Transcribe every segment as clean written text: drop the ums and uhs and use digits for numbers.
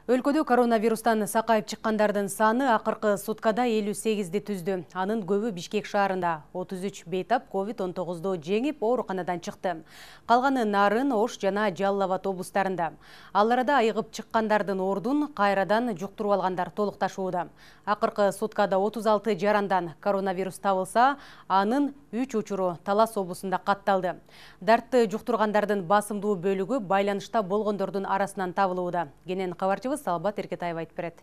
Өлкөдө коронавирустан сакайып чыккандардын саны акыркы суткада 58-ди түздү. Анын көбү Бишкек шаарында. 33 бейтап COVID-19 жеңип ооруканадан чыкты. Калганы Нарын, Ош жана Жалал Абад облустарында. Ал арада айыгып чыккандардын ордун кайрадан жуктуруп алгандар толукташууда. Акыркы суткада 36 жарандан коронавирус табылса, анын 3 учуру Талас облусунда катталды. Дартты жуктургандардын басымдуу бөлүгү байланышта болгондордун арасынан табылууда. Кенен кабарчыбыз Салбат Эркетаева айтып берет.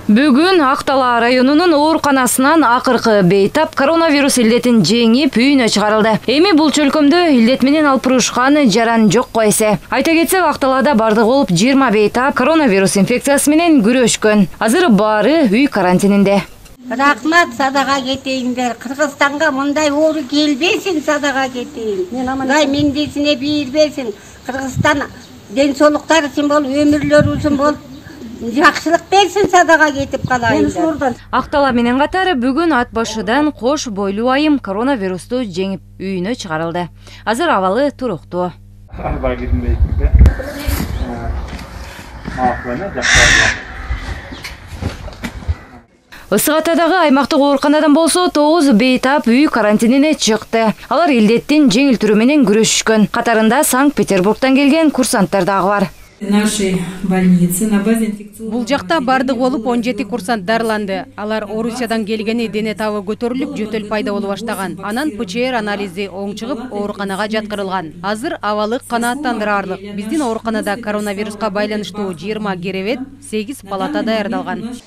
Бүгүн Актала районунун ооруканасынан акыркы бейтап коронавирус илдетин жеңип үйүнө чыгарылды. Эми бул чөлкөмдө илдет менен алпурушкан жаран жокко эсе. Айта кетсек, Акталада бардыгы болуп 20 бейтап коронавирус инфекциясы менен күрөшкөн. Азыр баары үй карантининде. Рахмат, садага кетейиндер. Кыргызстанга мындай оору келбесин, садага кетейин. Мындай мендесине бийирбесин. Кыргызстан ден соолуктар үчүн бол, өмүрлөр үчүн бол, жакшылык берсин, садага кетип калайындар. Актала менен катары бүгүн ат башыдан кош бойлуу айым коронавирусту жеңип үйүнө чыгарылды. Азыр абалы туруктуу. Ысык Атадагы аймактык ооруканадан болсо 9 бейтап үй карантинине чыкты. Алар илдеттин жеңил түрү менен күрөшүшкөн. Катарында Санкт-Петербургтан келген курсанттар дагы бар. Бул жакта бардык болуп 17 курсант дарыланды. Алар Орусиядан келгени дене табы көтөрүлүп, жөтөл пайда боло баштаган. Анан ПЧР анализи оң чыгып, ооруканага жаткырылган. Азыр абалы канааттандырарлык. Биздин ооруканада коронавируска байланыштуу 20 керебет, 8 палата даярдалган.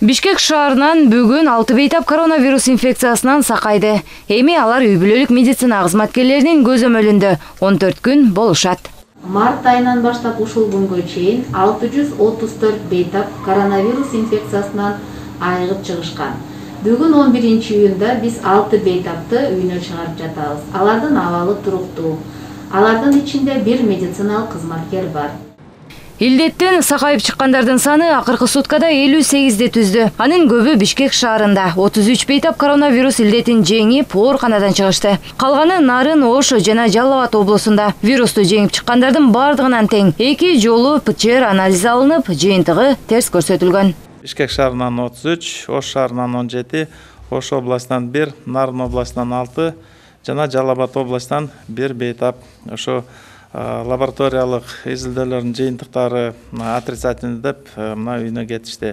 Бишкек шаарынан бүгүн 6 бейтап коронавирус инфекциясынан сакайды. Эми алар үй бүлөлүк медицина кызматкерлеринин көзөмөлүндө 14 күн болушат. Март айынан баштап ушул күнгө чейин 634 бейтап коронавирус инфекциясынан айыгып чыгышкан. Бүгүн 11-июнда биз 6 бейтапты үйүнө чыгарып жатабыз. Алардын абалы туруктуу. Алардын ичинде 1 медициналык кызматкер бар. Илдеттен сакайып чыккандардын саны акыркы суткада 58-ди түздү. Анын көбү Бишкек шаарында. 33 бейтап коронавирус илдетин жеңип ооруканадан чыгышты. Калганы Нарын, Ош жана Жалал Абад облусунда. Вирусту жеңип чыккандардын бардыгынан тең 2 жолу ПЧР анализи алынып, жыйынтыгы терс көрсөтүлгөн. Бишкек шаарынан 33, Ош шаарынан 17, Ош областынан 1, Нарын областынан 6 жана Жалал Абад областынан 1 бейтап ошо лабораториялык изилдөөлөрдүн жыйынтыктары отрицательный деп мына үйүнө кетишти.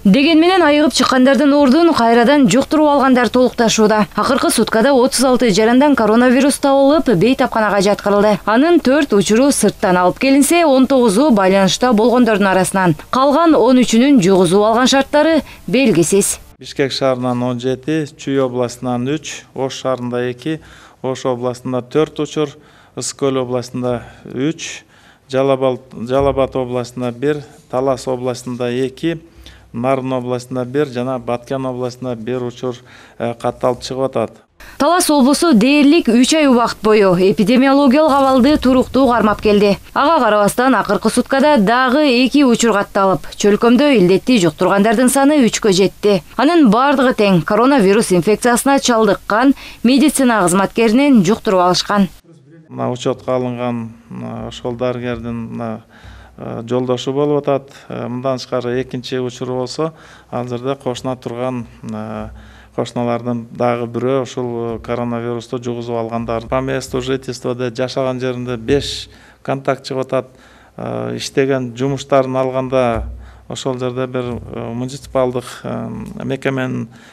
Деген менен айыгып чыккандардын ордун кайрадан жуктуруп алгандар толукташууда. Акыркы суткада 36 жарандан коронавирус табылып, бейтапканага жаткырылды. Анын 4 учуру сырттан алып келинсе, 19у байланышта болгондордун арасынан. Калган 13-үнүн жугузуп алган шарттары белгисиз. Бишкек шаарынан 17, Чүй областынан 3, Ош шаарында 2, Ош областында 4 учур, Ысык-Көл областында 3, Жалал Абад областында 1, Талас областында 2, Нарын областында 1 жана Баткен областында 1 учур катталып чыгып атат. Талас облусу дээрлик 3 ай убакыт бою эпидемиологиялык абалды туруктуу кармап келди. Ага карабастан акыркы суткада дагы 2 учур катталып, чөлкөмдө илдетти жуктургандардын саны 3кө жетти. Анын бардыгы тең коронавирус инфекциясына чалдыккан медицина кызматкеринен жуктуруп алышкан. Мына учетко алынган ошол дарыгердин жолдошу болуп атат. Мындан тышкары экинчи учуру болсо, азырда кошуна турган кошуналардын дагы бирөө ушул коронавирусту жугузуп алгандар. По месту жительствода жашаган жеринде 5 контакт чыгып атат. Иштеген жумуштарын алганда ошол жерде бир муниципалдык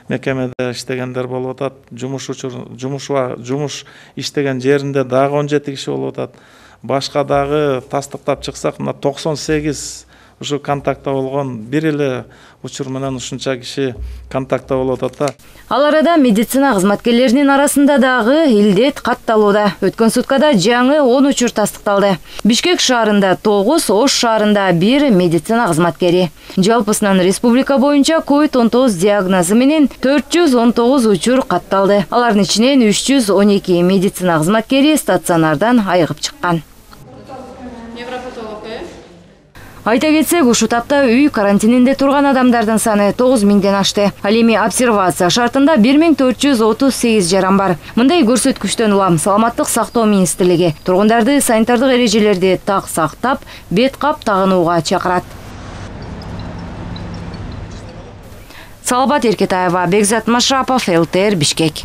мекемеде иштегендер болуп атат. Жумуш иштеген жеринде дагы 17 киши болуп атат. Башка дагы тастыктап чыксак, мына 98 ушу контактта болгон, бир эле учур менен ушунча киши контактта болуп атат да. Ал арада медицина кызматкерлеринин арасында дагы илдет катталууда. Өткөн суткада жаңы 10 учур тастыкталды. Бишкек шаарында 9, Ош шаарында 1 медицина кызматкери. Жалпысынан республика боюнча COVID-19 диагнозу менен 419 учур катталды. Алардын ичинен 312 медицина кызматкери стационардан айыгып чыккан. Айта кетсек, ушул тапта үй карантининде турган адамдардын саны 9000ден ашты. Ал эми обсервация шартында 1438 жаран бар. Мындай көрсөткүчтөн улам Саламаттык сактоо министрлиги тургундарды санитардык эрежелерди так сактап, бет кап тагынууга чакырат. Салабат Эркетаева, Бекзат Машрапов, ЛТР, Бишкек.